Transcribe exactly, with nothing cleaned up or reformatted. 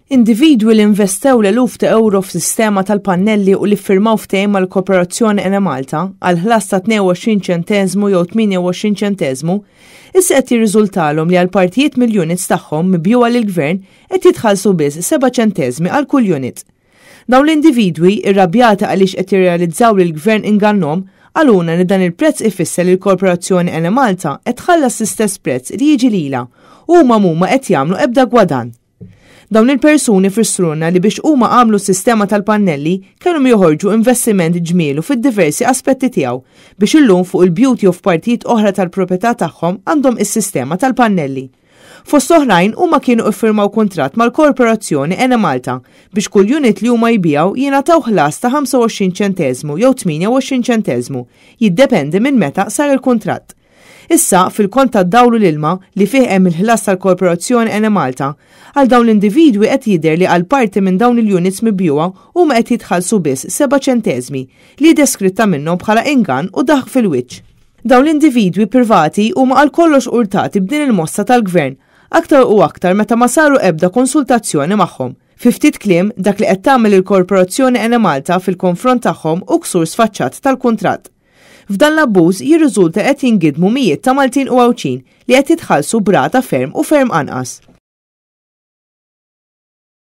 Individwi li investew l-eluf ta' euro f'sistema tal-pannelli u li ffirmaw ftehim mal-Korporazzjoni Enemalta għal ħlas ta' tnejn u għoxrin ċenteżmu jew tmienja u għoxrin ċenteżmu, issa qed jirriżultalhom li għal partijiet mill-units tagħhom mibjugħa lill-gvern qed jitħallsu biss seba' ċenteżmi għal kull unit. Dawn l-individwi, irrabjati għaliex qed jirrealizzaw li l-gvern ingannhom, qalulna li dan il-prezz ifisser li l-Korporazzjoni Enemalta qed tħallas l-istess prezz li jiġi lilha u huma mhuma qed jagħmlu ebda gwadann. Dawn il-persuni fissrulna li biex huma għamlu sistema tal-pannelli kellhom joħorġu investiment ġmielu fid-diversi aspetti tiegħu biex illum fuq il-bjut u f'partijiet oħra tal-proprjetà tagħhom għandhom is-sistema tal-pannelli. Fost oħrajn, huma kienu iffirmaw kuntratt mal-Korporazzjoni Enemalta biex kull unit li huma jbigħu jingħataw ħlas ta' ħamsa u għoxrin ċenteżmu jew tmienja u għoxrin ċenteżmu, jiddependi minn meta sar il-kuntratt. Issa, fil-kont tad-dawl u l-ilma li fih hemm il-ħlas tal-Korporazzjoni Enemalta, għal dawn l-individwi qed jidher li għal parti minn dawn il-units mibjugħa huma qed jitħallsu biss seba' ċenteżmi, li deskritta minnhom bħala ingann u daħk fil-wiċċ. Dawn l-individwi privati huma għal kollox urtati b'din il-mossa tal-gvern, aktar u aktar meta ma saru ebda konsultazzjoni magħhom. Fi ftit kliem, dak li qed tagħmel il-Korporazzjoni Enemalta fil-konfront tagħhom hu ksur sfaċċat tal-kuntratt. F'dan l-abbuż jirriżulta qed jingidmu mijiet ta' Maltin u Għawdxin li qed jitħallsu b'rata ferm u ferm anqas.